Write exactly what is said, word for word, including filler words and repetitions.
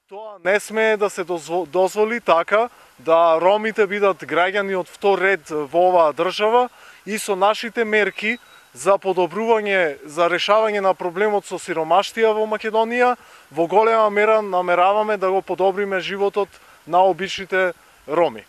Тоа не смее да се дозволи така да ромите бидат граѓани од втор ред во оваа држава и со нашите мерки за подобрување, за решавање на проблемот со сиромаштија во Македонија, во голема мера намераваме да го подобриме животот на обичните роми.